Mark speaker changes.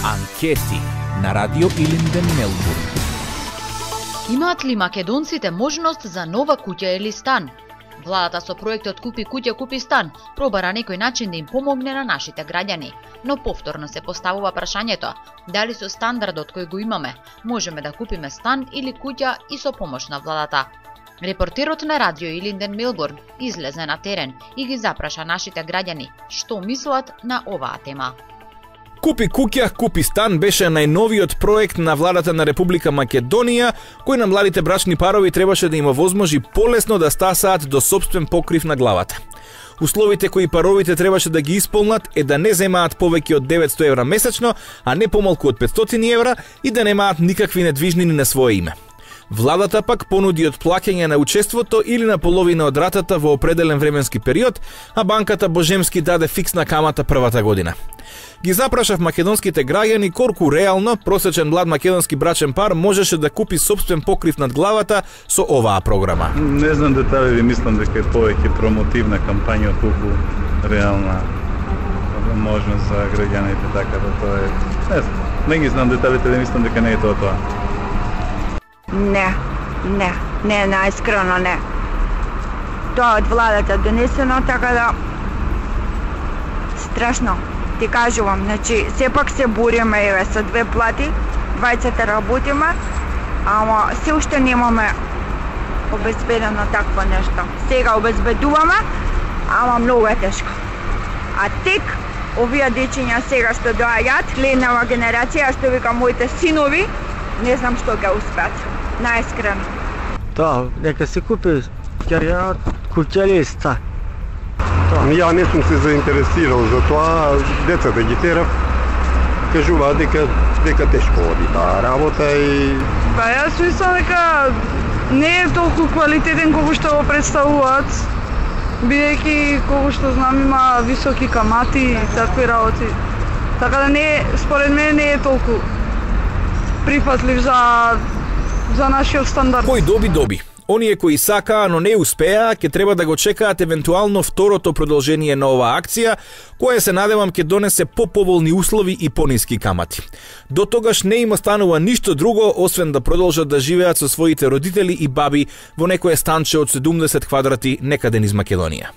Speaker 1: Анкети на Радио Илинден, Мелбурн.
Speaker 2: Имаат ли македонците можност за нова куќа или стан? Владата со проектот Купи куќа, купи стан пробара некој начин да им помогне на нашите граѓани, но повторно се поставува прашањето дали со стандардот кој го имаме можеме да купиме стан или куќа и со помош на владата. Репортерот на Радио Илинден, Мелбурн излезе на терен и ги запраша нашите граѓани што мислат на оваа тема.
Speaker 1: Купи куќа, купи стан беше најновиот проект на владата на Република Македонија, кој на младите брачни парови требаше да им овозможи полесно да стасаат до сопствен покрив на главата. Условите кои паровите требаше да ги исполнат е да не земаат повеќе од 900 евра месечно, а не помалку од 500 евра и да немаат никакви недвижнини на свое име. Владата пак понуди отплаќање на учеството или на половина од ратата во определен временски период, а банката Божемски даде фиксна камата првата година. Ги запрашав македонските граѓани колку реално просечен млад македонски брачен пар можеше да купи сопствен покрив над главата со оваа програма.
Speaker 3: Не знам детали, мислам дека е повеќе промотивна кампања отколку реална можност за граѓаните, така да тоа е. Не ги знам деталите, мислам дека не е тоа.
Speaker 4: Не, најскрено не. Тоа од владата донесено, така да страшно. Ти кажувам, значи, сепак се бориме, еве, со две плати, двајцата работиме, ама се уште немаме обезбедено такво нешто. Сега обезбедуваме, ама многу е тешко. А тек овие дечиња сега што доаѓаат, ленава генерација, што вика моите синови, не знам што ќе успеат. Најскрено.
Speaker 5: Да, нека се купи куќа или стан.
Speaker 6: Ја не сум се заинтересирал за тоа, децата ги терав, кажуваат дека тешко оди таа работа и...
Speaker 7: Па јас мислам дека не е толку квалитетен колку што го представуваат, бидејќи колку што знам има високи камати и такви работи. Така да не, според мене не е толку прифатлив за нашиот стандард.
Speaker 1: Кој доби. Оние кои сакаа, но не успеа, ќе треба да го чекаат евентуално второто продолжение на оваа акција, која се надевам ќе донесе поповолни услови и пониски камати. До тогаш не им останува ништо друго, освен да продолжат да живеат со своите родители и баби во некое станче од 70 квадрати некаде низ Македонија.